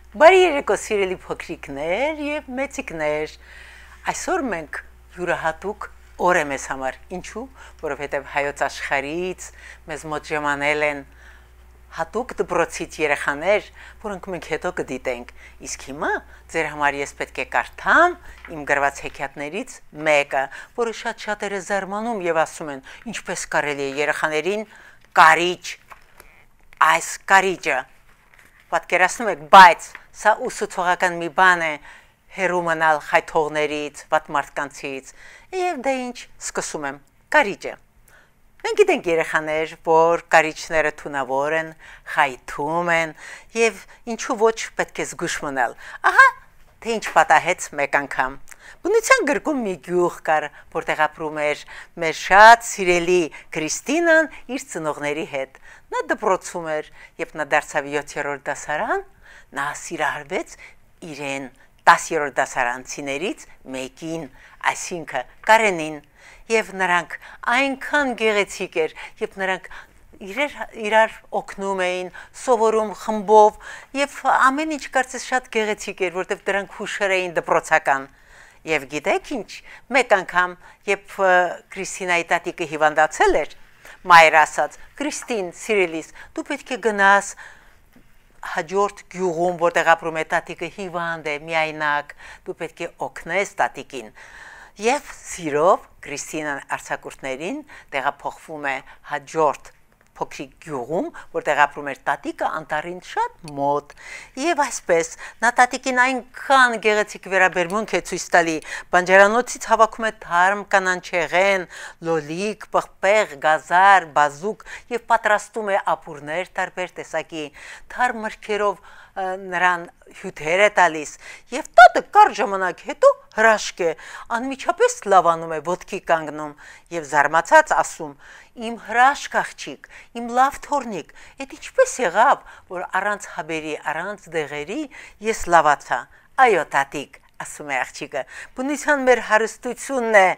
Բարի երեկո սիրելի փոքրիկներ եւ մեծիկներ։ Այսօր մենք յուրահատուկ օր է մեզ համար։ Ինչու՞, որովհետեւ հայոց աշխարհից մեզ մոտ ժամանել են հատուկ դպրոցից երեխաներ, որոնք մենք հետո կդիտենք։ Իսկ հիմա ձեր համար ես պետք է կարդամ իմ գրված հեքիաթներից մեկը, որը շատ-շատերը զարմանում եւ ասում են, ինչպես կարելի է երեխաներին կարիճ, այս կարիճը պատկերացնում եք, բայց սա ուսուցողական մի բան է հերու մնալ խայթողներից, վատ մարդկանցից, եւ դա ինչ սկսում եմ, կարիճը։ Մենք գիտենք երեխաներ, որ կարիճները թունավոր են, խայթում են եւ ինչու ոչ պետք է զգուշ մնալ։ Ահա թե ինչ պատահեց մեկ անգամ։ Բնության գրքում մի գյուղ կար, որտեղ ապրում էր մեր շատ սիրելի Քրիստինան իր ծնողների հետ։ Նա դպրոցում էր, երբ նա դարձավ 7-րդ դասարան, նա սիրահարվեց իրեն 10-րդ դասարանցիներից մեկին, այսինքն Կարենին, եւ նրանք այնքան գեղեցիկ էր, եւ նրանք իրար օգնում էին, սովորում խմբով, եւ ամեն ինչ կարծես շատ գեղեցիկ էր, որտեղ դրանք հուշեր էին դպրոցական։ Եվ գիտեք ինչ, մեկ անգամ, երբ Քրիստինայի տատիկը հիվանդացել էր, մայրը ասաց. «Քրիստին, սիրելիս, դու պետք է գնաս հաջորդ գյուղում, որտեղ ապրում է տատիկը հիվանդ է, միայնակ, դու պետք է օգնես տատիկին»։ Եվ սիրով Քրիստինան արձակուրդներին տեղափոխվում է հաջորդ փոքրիկ գյուղում, որտեղ ապրում էր տատիկը անտառին շատ մոտ։ Եվ այսպես նա տատիկին այնքան գեղեցիկ վերաբերմունք է ցույց տալի, բանջարանոցից հավաքում է թարմ կանանչեղեն, լոլիկ, պղպեղ, գազար, բազուկ եւ պատրաստում է ապուրներ տարբեր տեսակի, թարմ մրգերով նրան հյութեր է տալիս եւ տատը կար ժամանակ հետո հրաշք է, անմիջապես լավանում է, ոտքի կանգնում եւ զարմացած ասում. «Իմ հրաշք աղջիկ, իմ լավ թորնիկ, այդ ինչպես եղավ, որ առանց հաբերի, առանց դեղերի ես լավացա»։ «Այո, տատիկ», ասում է աղջիկը, «բնության մեր հարստությունն է,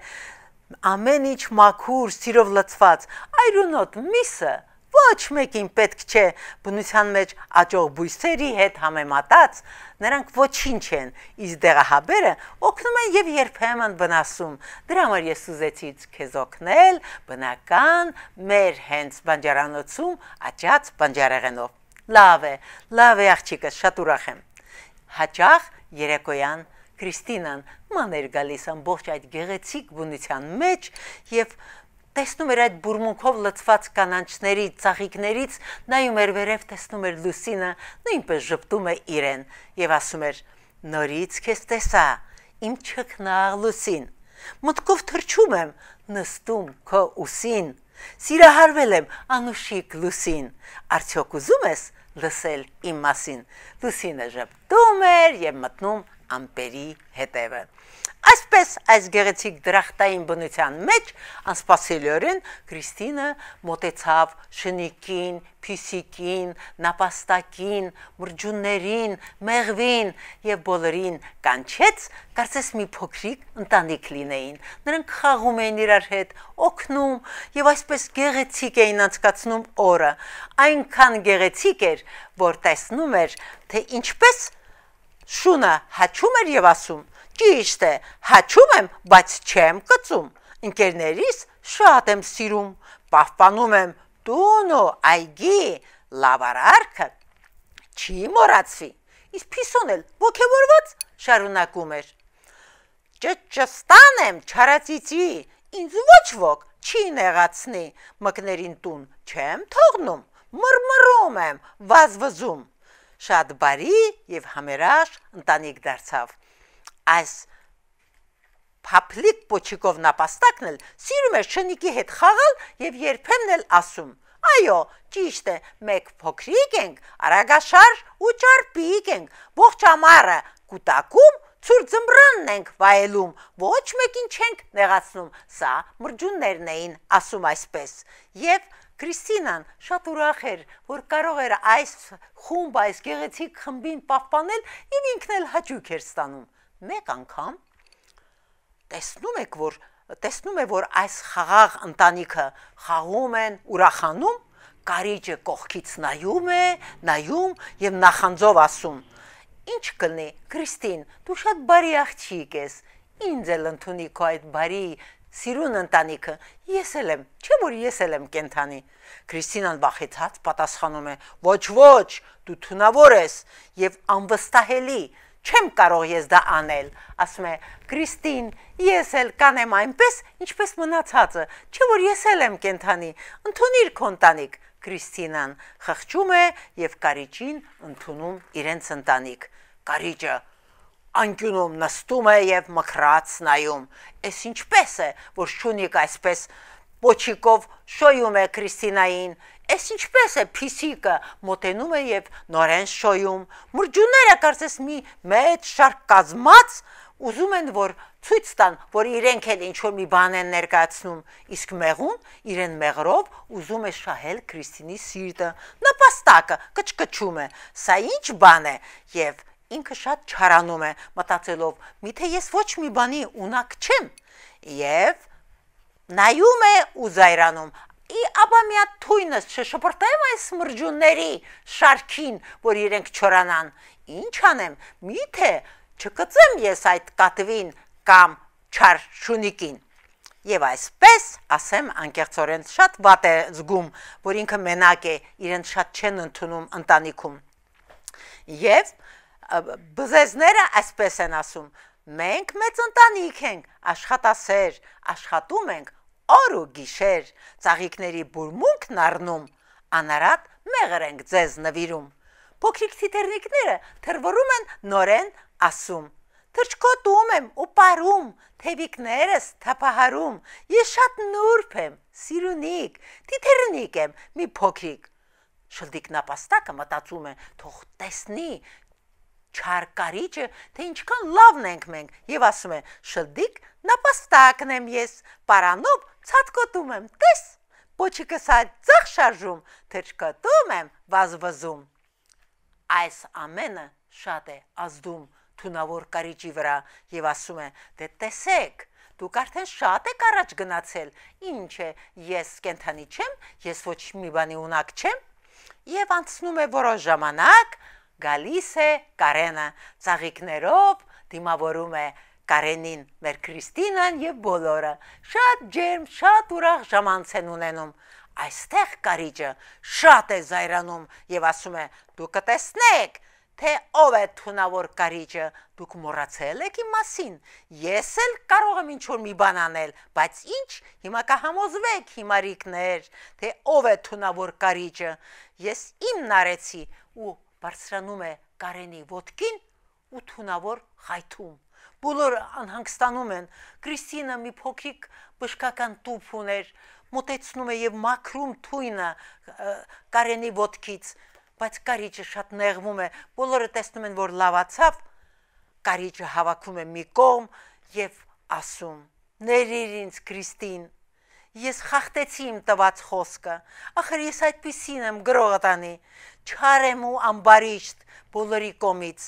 ամեն ինչ մաքուր, սիրով լցված, այրունոտ միսը ոչ մեկին պետք չէ, բնության մեջ աճող բույսերի հետ համեմատած նրանք ոչինչ են, իսկ դեղահաբերը օգնում են եւ երբեմն վնասում։ Դրա համար ես ուզեցի քեզ օգնել բնական մեր հենց բանջարանոցում աճած բանջարեղենով»։ Լավ է աղջիկը, շատ ուրախ եմ։ Հաճախ երեկոյան Քրիստինան ման էր գալիս ամբողջ այդ գեղեցիկ բնության մեջ եւ տեսնում էր այդ բուրմունքով լցված կանանչների, ծաղիկներից, նայում էր վերև, տեսնում էր Լուսինը, նույնպես ժպտում է իրեն եւ ասում էր. «Նորից քեզ տեսա, իմ չքնաղ Լուսին, մտքով թրջում եմ, նստում քո ուսին, սիրահարվել եմ անուշիկ Լուսին, արդյոք ուզում ես լսել իմ մասին»։ Լուսինը ժպտում էր եւ մտնում ամպերի հետևը։ Այսպես այս գեղեցիկ դրախտային բնության մեջ անսպասելիորեն Քրիստինը մոտեցավ շնիկին, փիսիկին, նապաստակին, մրջուններին, մեղվին եւ բոլորին կանչեց, կարծես մի փոքրիկ ընտանիք լինեին։ Նրանք խաղում էին իրար հետ, օգնում եւ այսպես գեղեցիկ էին անցկացնում օրը։ Այնքան գեղեցիկ էր, որ տեսնում էր, թե ինչպես շունը հաչում էր եւ ասում. «Ճիշտ է, հաչում եմ, բայց չեմ կծում, ընկերներիս շատ եմ սիրում, պահպանում եմ տուն ու այգի, լավարարքը չի մոռացվի»։ Իսկ Փիսոն էլ ոգևորված շարունակում էր. «Ճստան եմ չարացիցի, ինձ ոչ ոք չի նեղացնի, մկներին տուն չեմ թողնում, մռմռում եմ, վազվզում»։ Շատ բարի եւ համերաշխ ընտանիք դարձավ։ Այս փափլիկ պոչիկով նապաստակն էլ սիրում էր շնիկի հետ խաղալ եւ երբեմն էլ ասում. «Այո, ճիշտ է, մեկ փոքրիկ ենք, արագաշարժ ու ճարպիկ ենք, ողջ ամառը կուտակում, ցուրտ ձմռանն ենք վայելում, ոչ մեկին չենք նեղացնում»։ Սա մրջուններն էին ասում այսպես։ Եվ Քրիստինան շատ ուրախ էր, որ կարող էր այս խումբ, այս գեղեցիկ խմբին պահպանել եւ ինքն էլ հաճույք էր ստանում։ Մեկ անգամ տեսնում է, որ այս խաղաղ ընտանիքը խաղում են, ուրախանում, կարիճը կողքից նայում եւ նախանձով ասում. ինչ կլինի, Քրիստին, դու շատ բարի աղջիկ ես, ինձ էլ ընդունի քո այդ բարի սիրուն ընտանիքը, ես էլ եմ, չէ՞ որ ես էլ եմ կենթանի։ Քրիստինան վախեցած պատասխանում է. ոչ, դու թունավոր ես եւ անվստահելի, չեմ կարող ես դա անել։ Ասում է. Քրիստին, ես էլ կանեմ այնպես, ինչպես մնացածը, չէ՞ որ ես էլ եմ կենթանի, ընդունիր քո ընտանիք։ Քրիստինան խղճում է եւ կարիճին ընդունում իրենց ընտանիք։ Կարիճը անկյունում նստում է եւ մքրած նայում։ Էս ինչպես է, որ շունիկ այսպես պոչիկով շոյում է Քրիստինային։ Էս ինչպես է փիսիկը մոտենում է եւ նորեն շոյում։ Մրջունները կարծես մի մեծ շարք կազմած ուզում են որ ցույց տան, որ իրենք էլ ինչ որ մի բան են ներկայացնում, իսկ մեղուն իրեն մեղրով ուզում է շահել Քրիստինի սիրտը։ Նպաստակը կչկչում է։ Սա ինչ բան է եւ ինքը շատ չարանում է, մտածելով. միթե ես ոչ մի բանի ունակ չեմ, եւ նայում է ու զայրանում. ապա մի հատ թույնս չշպրտեմ այս մրջունների շարքին, որ իրենք չորանան։ Ինչ անեմ, միթե չկծեմ ես այդ կատվին կամ չար շունիկին։ Եվ այսպես, ասեմ, անկեղծորեն շատ վատ է զգում, որ ինքը մենակ է, իրեն շատ չեն ընդունում ընտանիքում։ Եվ բզեզները այսպես են ասում. մենք մեծ ընտանիք ենք, աշխատասեր, աշխատում ենք օր ու գիշեր, ծաղիկների բուրմունքն առնում, անարատ մեղր ենք ձեզ նվիրում։ Փոքրիկ թիթեռնիկները թրվռում են նորեն ասում. թրջկոտում եմ ու պարում, թևիկներս թափահարում, ես շատ նուրբ եմ, սիրունիկ, թիթեռնիկ եմ, մի փոքրիկ։ Շլդիկ նապաստակը մտածում է, թող տեսնի չար կարիճը, թե ինչքան լավն ենք մենք, եւ ասում է. շլդիկ նապաստակն եմ ես, պարանով ցածկոտում եմ, տես, պոչիկս ձախ շարժում, թրջկոտում եմ, վազվզում։ Այս ամենը շատ է ազդում թունավոր կարիճի վրա եւ ասում է. դե տեսեք, դուք արդեն շատ եք առաջ գնացել, ինչ է, ես կենթանի չեմ, ես ոչ մի բանի ունակ չեմ։ Եվ անցնում է որոշ ժամանակ, գալիս է Կարենը, ծաղիկներով դիմավորում է Կարենին, մեր Քրիստինան եւ բոլորը։ Շատ ջերմ, շատ ուրախ ժամանց են ունենում։ Այստեղ կարիճը շատ է զայրանում եւ ասում է. դուք կտեսնեք, թե ով է թունավոր կարիճը, դուք մոռացել եք իմ մասին։ Ես էլ կարող եմ ինչ որ մի բան անել, բայց ինչ, հիմա կհամոզվեք հիմարիկներ, թե ով է թունավոր կարիճը։ Ես իմն արեցի ու բարձրանում է Կարենի ոտքին ու թունավոր խայթում։ Բոլորը անհանգստանում են։ Քրիստինը մի փոքրիկ բժշկական տուփ ուներ, մոտեցնում է եւ մաքրում թույնը Կարենի ոտքից, բայց կարիճը շատ նեղվում է։ Բոլորը տեսնում են, որ լավացավ, կարիճը հավաքում է մի կողմ եւ ասում. ներիր ինձ Քրիստին, ես խախտեցի իմ տված խոսքը, ախր ես այդպիսին եմ գրողը տանի, չար եմ ու ամբարիշտ բոլորի կողմից,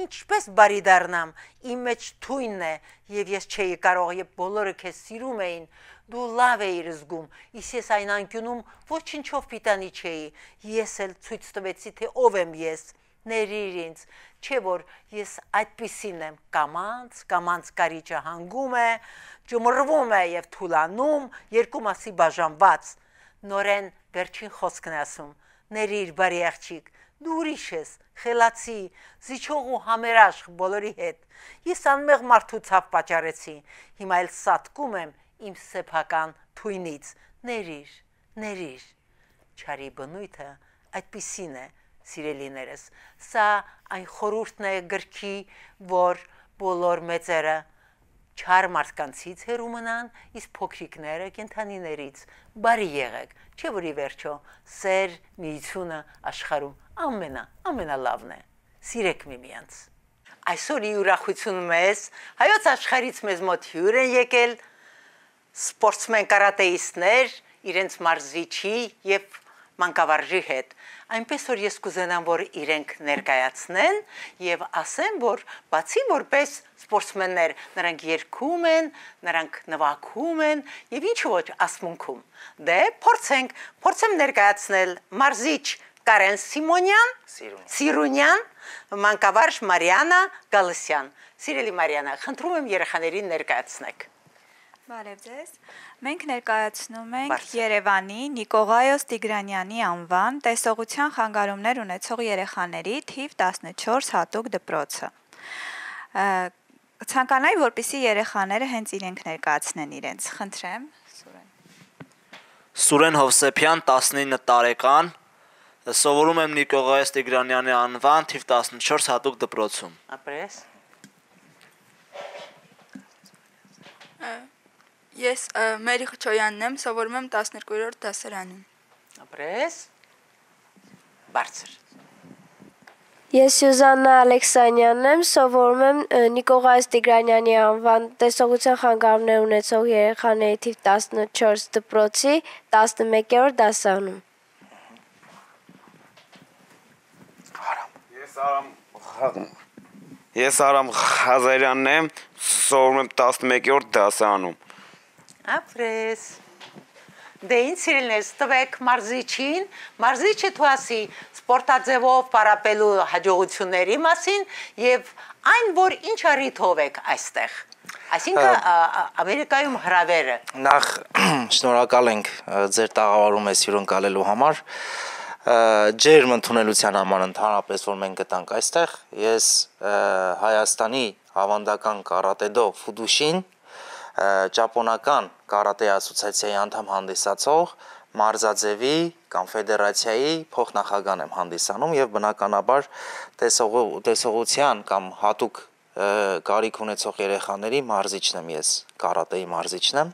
ինչպես բարի դառնամ, իմ մեջ թույնն է եւ ես չէի կարող, եւ բոլորը քեզ սիրում էին, դու լավ էիր զգում, իսկ ես այն անկյունում ոչինչով պիտանի չէի, ես էլ ցույց տվեցի, թե ով եմ ես, ներիր ինձ, չէ որ ես այդպիսին եմ, կամանց կարիճը հանգում է, ջմռվում է եւ թուլանում, երկու մասի բաժանված, նորեն վերջին խոսքն է ասում. ներիր բարի աղջիկ, դու ուրիշ ես, խելացի, զիջող ու համերաշխ բոլորի հետ, ես անմեղ մարդու ցավ պատճառեցի, հիմա էլ սատկում եմ իմ սեփական թույնից, ներիր, չարի բնույթը այդպիսին է, սիրելիներս, սա այն խորհուրդն է գրքի, որ բոլոր մեծերը չար մարդկանցից հեռու մնան, իսկ փոքրիկները կենդանիներից բարի եղեք, չէ՞ որ ի վերջո սեր միությունը աշխարհում ամենալավն է, սիրեք միմյանց։ Այսօր ի ուրախություն մեզ, հայոց աշխարհից մեզ մոտ հյուր են եկել սպորտսմեն կարատեիստներ, իրենց մարզիչի եւ մանկավարժի հետ, այնպես որ ես կուզենամ, որ իրենք ներկայացնեն եւ ասեմ, որ բացի որպես սպորտսմեններ, նրանք երգում են, նրանք նվագում են եւ ինչ ոչ ասմունքում։ Դե փորձեմ ներկայացնել մարզիչ Կարեն Սիմոնյան, Սիրունյան, մանկավարժ Մարիանա Գալստյան։ Սիրելի Մարիանա, խնդրում եմ երեխաներին ներկայացնեք։ Բարև ձեզ։ Մենք ներկայացնում ենք Երևանի Նիկողայոս Տիգրանյանի անվան տեսողության խանգարումներ ունեցող երեխաների թիվ 14 հատուկ դպրոցը։ Ցանկանայի, որպեսզի երեխաները հենց իրենք ներկայացնեն իրենց։ Խնդրեմ, Սուրեն։ Սուրեն Հովսեփյան, 19 տարեկան, սովորում եմ Նիկողայոս Տիգրանյանի անվան թիվ 14 հատուկ դպրոցում։ Ապրես։ Ես Մերի Խչոյանն եմ, սովորում եմ 12-րդ դասարանում։ Ապրես։ Բարձր։ Ես Սյուզաննա Ալեքսանյանն եմ, սովորում եմ Նիկողայոս Տիգրանյանի անվան տեսողության խանգարումներ ունեցող երեխաների թիվ 14 դպրոցի 11-րդ դասարանում։ Ես Արամ Ղազարյանն եմ, սովորում եմ 11-րդ դասարանում։ Ապրես։ Դե ինչ սիրելիներս, տվեք մարզիչին, մարզիչը թու ասի սպորտաձևով պարապելու հաջողությունների մասին եւ այն, որ ինչ առիթով եք այստեղ։ Այսինքն Ամերիկայում հրավերը։ Նախ շնորհակալ ենք ձեր տաղավարում ես հյուրընկալելու համար։ Ջերմ ընդունելության համար ընդհանրապես որ մենք գտանք այստեղ, ես Հայաստանի ավանդական կարատեդո Ֆուդուշին ճապոնական կարատե ասոցիացիայի անդամ հանդիսացող մարզաձևի կամ ֆեդերացիայի փոխնախագահ եմ հանդիսանում եւ բնականաբար տեսողության կամ հատուկ կարիք ունեցող երեխաների մարզիչն եմ ես, կարատեի մարզիչն եմ։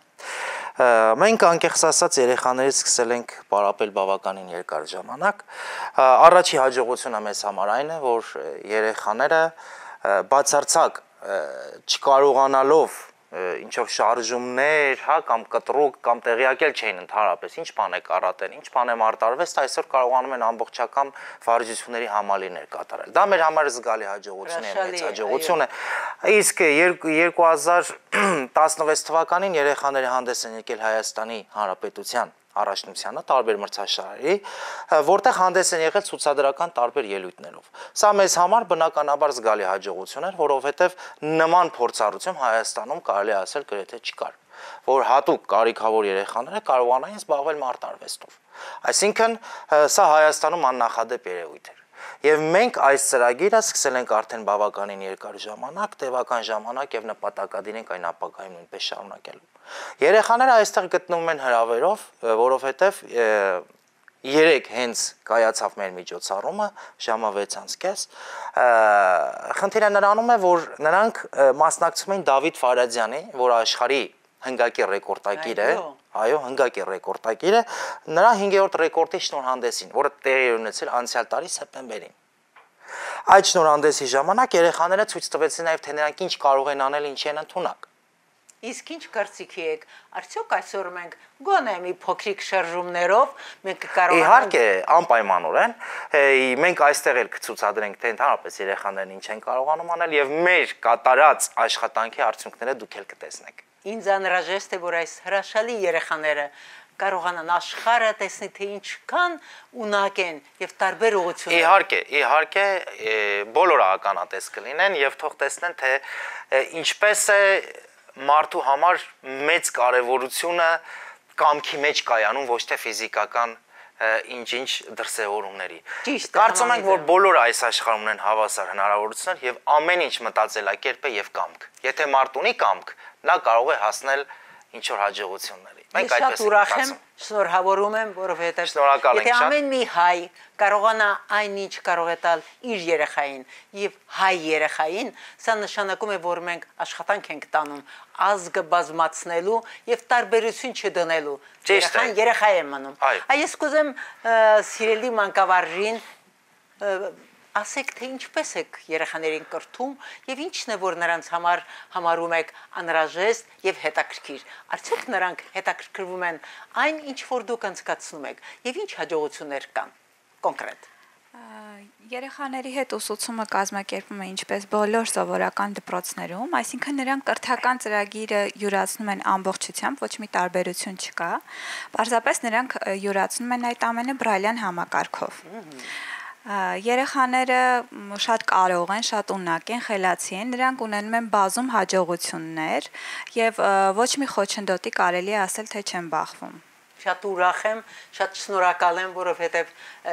Մենք անկեղծ ասած երեխաներից սկսել ենք պարապել բավականին երկար ժամանակ։ Առաջի հաջողությունը մեզ համար այն է, որ երեխաները բացարձակ չկարողանալով ինչ-որ շարժումներ, հա, կամ կտրուկ կամ տեղյակել չէին ընդհանրապես, ինչ բան է կարատեն, ինչ բան է մարտարվեստ, այսօր կարողանում են ամբողջական վարժությունների համալիրներ կատարել։ Դա մեր համար զգալի հաջողություն է, մեծ հաջողություն է։ Իսկ 2016 թվականին երեխաները հանդես են եկել Հայաստանի Հանրապետության առաջնությանը տարբեր մրցաշարերի, որտեղ հանդես են եղել ցուցադրական տարբեր ելույթներով։ Սա մեզ համար բնականաբար զգալի հաջողություն էր, որովհետև նման փորձառություն Հայաստանում կարելի ասել գրեթե չկար, որ հատուկ կարիքավոր երեխաները կարողանային զբաղվել մարտարվեստով։ Այսինքն սա Հայաստանում աննախադեպ երևույթ էր։ Եվ մենք այս ծրագիրը սկսել ենք արդեն բավականին երկար ժամանակ, տևական ժամանակ եւ նպատակադիր ենք այն ապագայում նույնպես շարունակելու։ Երեխաները այստեղ գտնվում են հրավերով, որովհետեւ երեք հենց կայացավ մեր միջոցառումը ժամը 6:30։ Խնդիրը նրանում է, որ նրանք մասնակցում են Դավիթ Ֆարադյանի, որ աշխարհի հնգակի ռեկորդակիր է, այո, հնգակի ռեկորդակիր է, նրա 5-րդ ռեկորդի շնորհանդեսին, որը տեղի էր ունեցել անցյալ տարի սեպտեմբերին։ Այդ շնորհանդեսի ժամանակ երեխաները ցույց տվեցին նաև թե նրանք ինչ կարող են անել, ինչ են ընդունակ։ Իսկ ինչ կարծիքի եք, արդյոք այսօր մենք գոնե մի փոքրիկ շարժումներով մենք կարողանանք։ Իհարկե, անպայմանորեն, մենք այստեղ էլ կցուցադրենք թե ընդհանրապես երեխաներն ինչ են կարողանում անել եւ մեր կատարած աշխատանքի արդյունքները դուք էլ կտեսնեք։ Ինձ անհրաժեշտ է, որ այս հրաշալի երեխաները կարողանան աշխարհը տեսնի, թե ինչքան ունակ են եւ տարբեր ուղղություններ։ Իհարկե, բոլորը ականատես կլինեն եւ թող տեսնեն, թե ինչպես է մարդու համար մեծ կարևորությունը կամքի մեջ կայանում, ոչ թե ֆիզիկական ինչ-ինչ դրսևորումների։ Կարծում ենք, որ բոլորը այս աշխարհում ունեն հավասար հնարավորություններ եւ ամեն ինչ մտածելակերպ է եւ կամք։ Եթե մարդ ունի կամք, նա կարող է հասնել ինչ-որ հաջողությունների։ Մենք այդպես ենք ուրախ եմ, շնորհավորում եմ, որովհետեւ եթե ամեն մի հայ կարողանա այնինչ կարող է տալ իր երեխային եւ հայ երեխային, սա նշանակում է, որ մենք աշխատանք ենք տանում ազգը բազմացնելու եւ տարբերություն չդնելու։ Երեխան երեխա է մնում։ Այս կուզեմ սիրելի մանկավարժին ասեք, թե ինչպես եք երեխաներին կրթում եւ ինչն է, որ նրանց համար համարում եք անհրաժեշտ եւ հետաքրքիր։ Արդյոք նրանք հետաքրքրվում են այն, ինչ որ դուք անցկացնում եք եւ ինչ հաջողություններ կան կոնկրետ։ Երեխաների հետ ուսուցումը կազմակերպվում է ինչպես բոլոր սովորական դպրոցներում, այսինքն նրանք կրթական ծրագիրը յուրացնում են ամբողջությամբ, ոչ մի տարբերություն չկա։ Պարզապես նրանք յուրացնում են այդ ամենը բրայլյան համակարգով։ Երեխաները շատ կարող են, շատ ունակ են, խելացի են, նրանք ունենում են բազում հաջողություններ եւ ոչ մի խոչընդոտի կարելի է ասել, թե չեն բախվում։ Շատ ուրախ եմ, շատ շնորհակալ եմ, որովհետև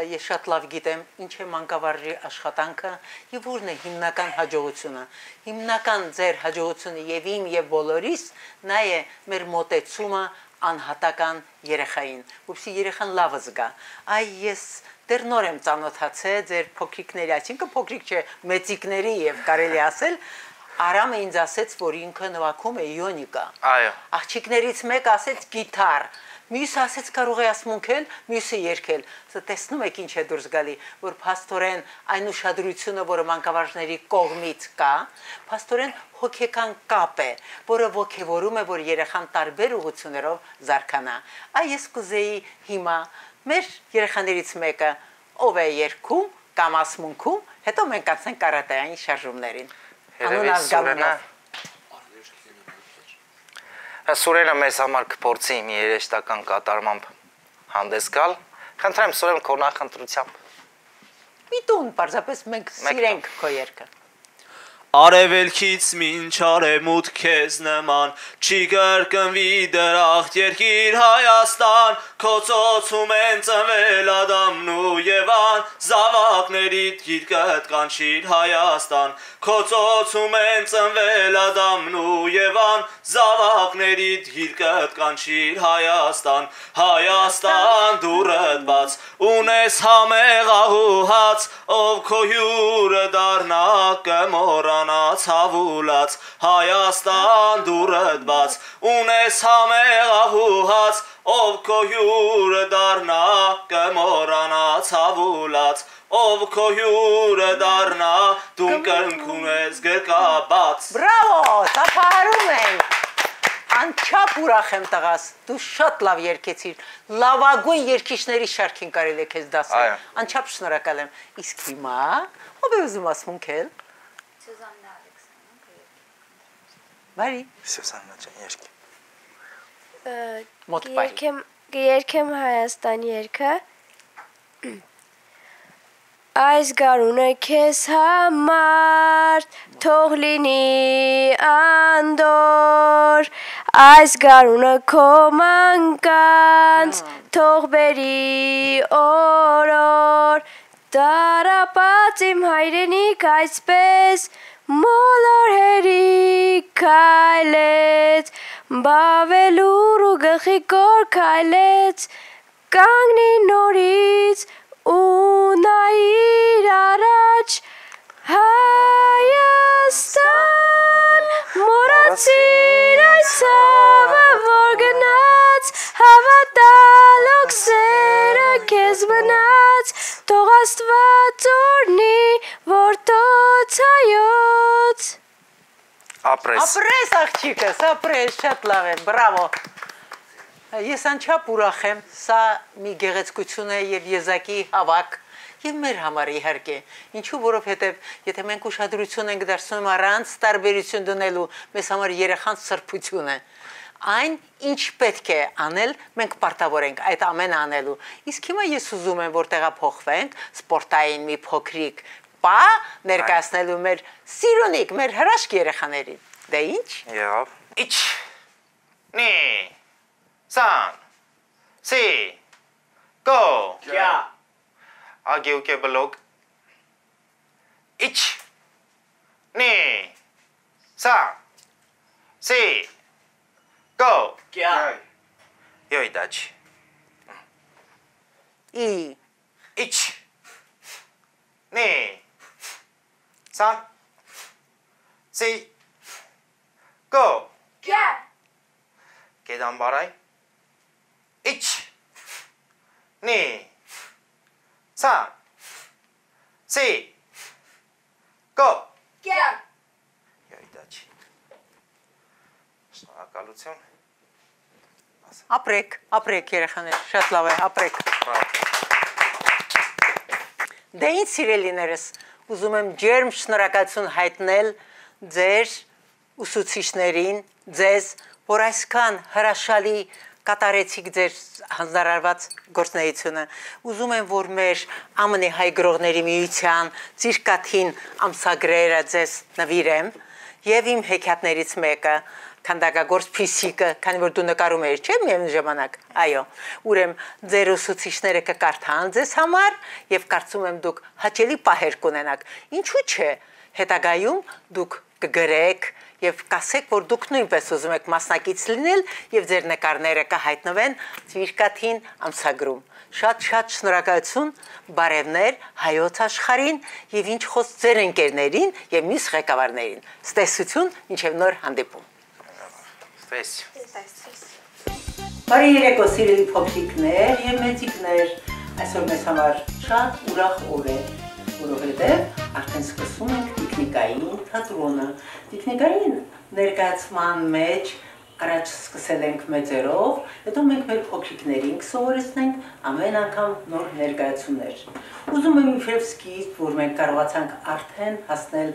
ես շատ լավ գիտեմ ինչ է մանկավարժի աշխատանքը եւ որն է հիմնական հաջողությունը։ Հիմնական ձեր հաջողությունը եւ իմ եւ բոլորիս նա է մեր մոտեցումը անհատական երեխային, որպեսզի երեխան լավը զգա։ Այ ես դեռ նոր եմ ծանոթացել ձեր փոքրիկների, այսինքն փոքրիկ չէ, մեծիկների եւ կարելի ասել Արամը ինձ ասեց, որ ինքը նվագում է իոնիկա։ Այո։ Աղջիկներից մեկը ասեց գիտար։ Մյուսը ասեց կարող է ասմունքել, մյուսը երգել։ Սա տեսնում եք ինչ է դուրս գալի, որ փաստորեն այն ուշադրությունը, որը մանկավարժների կողմից կա, փաստորեն հոգեկան կապ է, որը ոգևորում է, որ երեխան տարբեր ուղղություններով զարգանա։ Այ ես կուզեի հիմա մեր երեխաներից մեկը ով է երգում կամ ասմունքում, հետո մենք անցնենք կարատեային շարժումներին։ Երևի Սուրենը մեզ համար կփորձի մի երաժշտական կատարմամբ հանդես գալ։ Խնդրեմ Սուրեն քո նախընտրությամբ։ Միտուն, պարզապես մենք սիրենք քո երգը։ Արևելքից մինչ արևմուտք քեզ նման չի կրկնվի դրախտ երկիր Հայաստան քո ծոցում են ծնվել Ադամն ու Եվան զավակներիդ գիրկդ կանչիր Հայաստան քո ծոցում են ծնվել Ադամն ու Եվան զավակներիդ գիրկդ կանչիր Հայաստան Հայաստան դուրդ բաց ունես համեղ ահուհաց ով քո հյուրը դառնա կմոռա ցավուլած Հայաստան դուրդ բաց ունես համեղ ահուհաց ով քո հյուրը դառնա կմոռանա ցավուլած ով քո հյուրը դառնա դու կրնքում ես գրկաբաց Բրավո, տապարում ենք Անչափ ուրախ եմ տղաս, դու շատ լավ երգեցիր, լավագույն երգիչների շարքին կարելի է քեզ դասել, անչափ շնորհակալ եմ, իսկ հիմա ով է ուզում ասմունքել Բարի Սուսաննա ջան երգի Մոտ բայ Երգեմ Հայաստան երգը Այս գարունը քեզ համար թող լինի անդոր Այս գարունը քո մանկանց թող բերի օրոր Տարապած իմ հայրենիք այսպես մոլորհերի քայլեց բավելուր ու գլխի կոր քայլեց կանգնի նորից ու նայիր առաջ Հայաստան մոռացիր այս ցավը որ գնաց հավատալոք սերը քեզ մնաց թող Աստված օրհնի որ տոց հայոց Ապրես Ապրես աղջիկս, ապրես, շատ լավ է, բրավո Ես անչափ ուրախ եմ, սա մի գեղեցկություն է եւ եզակի հավաք եւ մեր համար իհարկե ինչու որովհետեւ եթե մենք ուշադրություն ենք դարձնում առանց տարբերություն դնելու մեզ համար երեխան սրբություն է Այն ինչ պետք է անել, մենք պարտավոր ենք այդ ամենը անելու։ Իսկ հիմա ես ուզում եմ, որ տեղափոխվենք սպորտային մի փոքրիկ պա ներկայացնելու մեր սիրունիկ, մեր հրաշք երեխաներին։ Դե ինչ։ Եղավ։ Իչ։ Նի։ Սան։ Սի։ Գո։ Կյա։ Ագեուկե բլոկ։ Իչ։ Նի։ Սան։ Սի։ Go! Կյա Յոյ դաչ Ի Իչ Նի Սան Սի Go! Կյա Կեդան բարայ Իչ Նի Սան Սի Go! Կյա Յոյ դաչ Շնորհակալություն Ապրեք երեխաներ, շատ լավ է, ապրեք։ Դե ինչ սիրելիներս, ուզում եմ ջերմ շնորհակալություն հայտնել ձեր ուսուցիչներին, ձեզ, որ այսքան հրաշալի կատարեցիք ձեր հանձնարարված գործունեությունը։ Ուզում եմ, որ մեր ԱՄՆ հայ գրողների միության Ծիրկաթին ամսագրերը ձեզ նվիրեմ եւ իմ հեքիաթներից մեկը քանդակագործ Փիսիկը, քանի որ դու նկարում ես, չէ՞, միևնույն ժամանակ։ Այո, ուրեմն ձեր ուսուցիչները կկարդան ձեզ համար եւ կարծում եմ դուք հաճելի պահեր կունենաք։ Ինչու՞ չէ, հետագայում դուք կգրեք եւ կասեք, որ դուք նույնպես ուզում եք մասնակից լինել եւ ձեր նկարները կհայտնվեն Ծիրկաթին ամսագրում։ Շատ շնորհակալություն, բարևներ հայոց աշխարհին եւ ինչ խոս ձեր ընկերներին եւ մյուս ղեկավարներին։ Ստեսություն, մինչեւ նոր հանդիպում։ Բարի երեկո սիրելի փոքրիկներ եւ մեծիկներ, այսօր մեզ համար շատ ուրախ օր է, որովհետեւ արդեն սկսում ենք տեխնիկային թատրոնը։ Տեխնիկային ներկայացման մեջ առաջ սկսել ենք մեծերով, հետո մենք մեր փոքրիկներին կսովորեցնենք ամեն անգամ նոր ներկայացումներ։ Ուզում եմ իբրև սկիզբ, որ մենք կարողացանք արդեն հասնել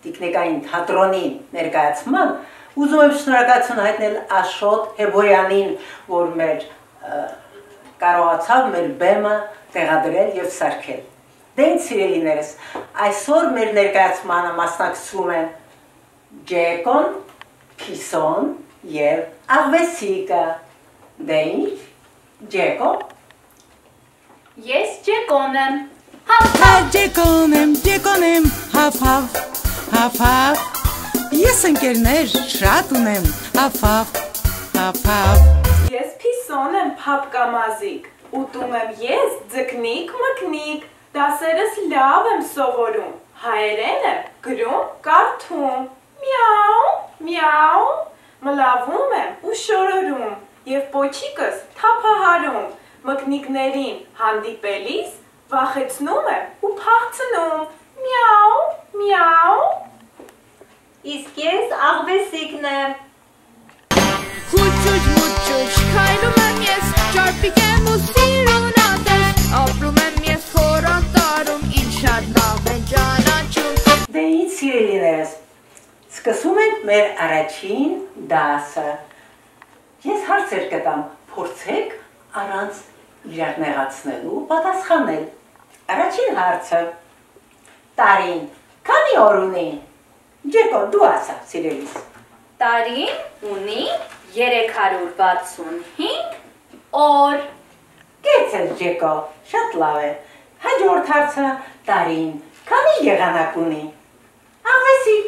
տեխնիկային թատրոնի ներկայացման, ուզում եմ շնորհակալություն հայտնել Աշոտ Հեբոյանին, որ մեր կարողացավ մեր բեմը տեղադրել եւ սարքել։ Դե ինչ սիրելիներս, այսօր մեր ներկայացմանը մասնակցում են Ջեկոն, Փիսոն եւ Աղվեսիկը։ Դե ինչ, Ջեկո։ Ես Ջեկոն եմ։ Ջեկոն եմ, հաֆ։ Ես ընկերներ շատ ունեմ, հաֆ։ Ես Փիսոն եմ, փապկամազիկ, ուտում եմ ես ձկնիկ մկնիկ, դասերս լավ եմ սովորում, հայերեն եմ գրում, կարդում, միաու, մլավում եմ ու շորորում եւ պոչիկս թափահարում, մկնիկներին հանդիպելիս վախեցնում եմ ու փախցնում, միաու։ Իսկ ես Աղվեսիկն եմ։ Խուճուճ, քայլում եմ ես, ճարպիկ եմ ու սիրուն ատես, ապրում եմ ես խորատարում, ինչ շատ լավ են ճանաչում։ Դե ինչ սիրելիներս, սկսում ենք մեր առաջին դասը։ Ես հարցեր կտամ, փորձեք առանց իրար նեղացնելու պատասխանել։ Առաջին հարցը. տարին քանի օր ունի։ Ջեկո, դու ասա, սիրելիս։ Տարին ունի 365 օր։ Կեցել Ջեկո, շատ լավ է։ Հաջորդ հարցը, տարին քանի եղանակ ունի։ Աղվեսիկ։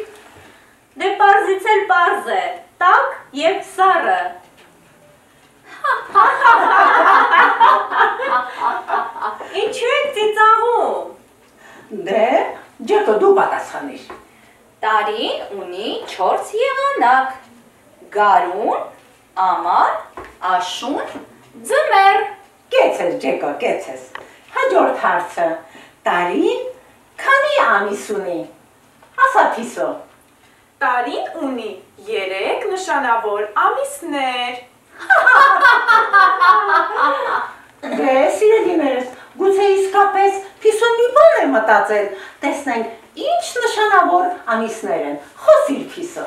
Դե պարզից էլ պարզ է, տաք եւ սառը։ Ինչու եք ծիծաղում։ Դե, Ջեկո, դու պատասխանիր։ Տարին ունի 4 եղանակ, գարուն, ամառ, աշուն, ձմեռ։ Կեցես Ջեկո, կեցես։ Հաջորդ հարցը, տարին քանի ամիս ունի։ Ասա Փիսո։ Տարին ունի 3 նշանավոր ամիսներ։ Դե, սիրելիներս, գուցե իսկապես Փիսոն մի բան է մտածել, տեսնենք ինչ նշանավոր ամիսներ են, խոսիր Փիսո։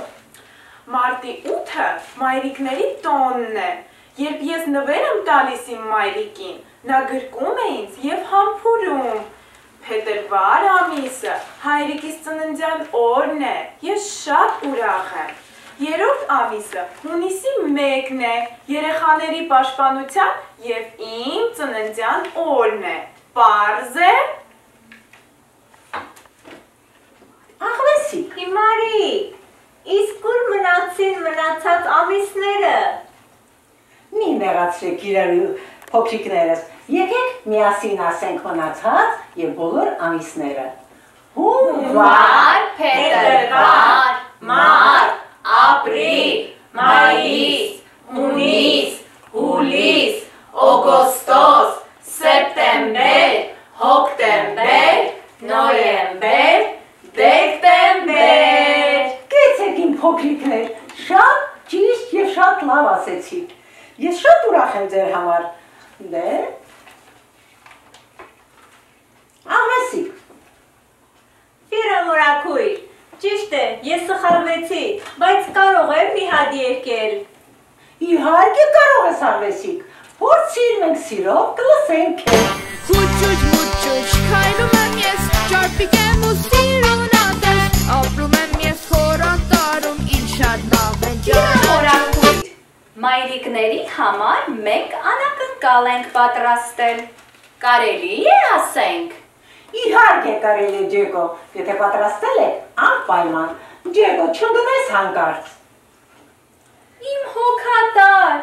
Մարտի 8-ը մայրիկների տոնն է, երբ ես նվեր եմ տալիս իմ մայրիկին, նա գրկում է ինձ եւ համբուրում։ Փետրվար ամիսը հայրիկիս ծննդյան օրն է, ես շատ ուրախ եմ։ Երրորդ ամիսը հունիսի 1-ն է, երեխաների պաշտպանության եւ իմ ծննդյան օրն է։ Պարզ է։ Աղվեսիկ։ Հիմարի, իսկ ուր մնացին մնացած ամիսները։ Մի նեղացրեք իրար փոքրիկներս, եկեք միասին ասենք մնացած եւ բոլոր ամիսները։ Հունվար, փետրվար, մարտ, ապրիլ, մայիս, հունիս, հուլիս, օգոստոս, սեպտեմբեր, հոկտեմբեր, նոյեմբեր, դեկտեմբեր։ Կեցեք իմ փոքրիկներ, շատ ճիշտ եւ շատ լավ ասեցիք։ Ես շատ ուրախ եմ ձեր համար։ Դե Աղվեսիկ, մորաքույր։ Ճիշտ է, ես սխալվեցի, բայց կարող եմ մի հատ եկել։ Իհարկե կարող ես արվեսիկ, փորձիր մենք սիրով կլսենք է։ Հուճուճ մուճուճ քայլում եմ ես, ճարպիկ եմ ու սիրուն ատես, ապրում եմ ես խորատարում, ինչ շատ լավ են Մորաքույր, մայրիկների համար մենք անակնկալ ենք պատրաստել։ Կարելի է ասենք։ Իհարկե կարելի է Ջեկո, եթե պատրաստել եք անպայման, Ջեկո չընկնես հանկարծ։ Իմ հոգատար,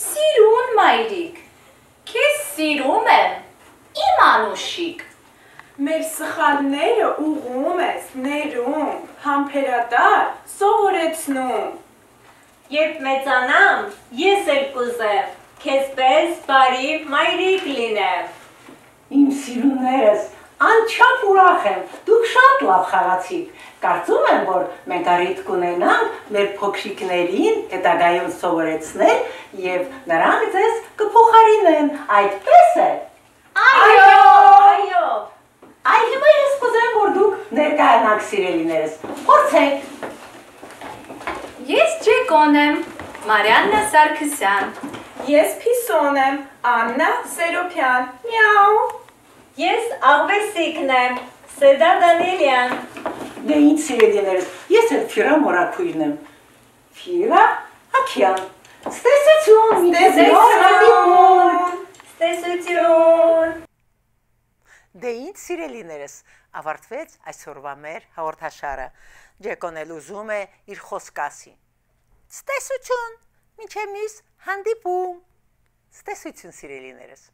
սիրուն մայրիկ, քեզ սիրում եմ, իմ անուշիկ։ Մեր սխալները ուղում ես, ներում, համբերատար, սովորեցնում։ Երբ մեծանամ, ես էլ կուզեմ, քեզպես բարի մայրիկ լինեմ։ Իմ սիրուններս, անչափ ուրախ եմ, դուք շատ լավ խաղացիք, կարծում եմ, որ մենք առիթ կունենանք մեր փոքրիկներին հետագայում սովորեցնել և նրանք ձեզ կփոխարինեն, այդպես է։ Այո։ Այ հիմա ես կուզեմ, որ դուք ներկայանաք սիրելիներս, փորձեք։ Ես Ջեկոն եմ, Մարիաննա Սարգսյան։ Ես Փիսոն եմ, Աննա Սերոփյան, միաու։ Ես Աղվեսիկն եմ, Սեդա Դանիելյան։ Դե ինձ սիրելիներս, ես էլ Ֆիրա մորաքույրն եմ։ Ֆիրա Աքյան, ստեսություն, Ստեսություն։ Դե ինձ սիրելիներս, ավարտվեց այսօրվա մեր հաղորդաշարը։ Ջեկոն էլ ուզում է իր խոսք ասի։ Ստեսություն, մինչև մյուս հանդիպում։ Ստեսություն սիրելիներս։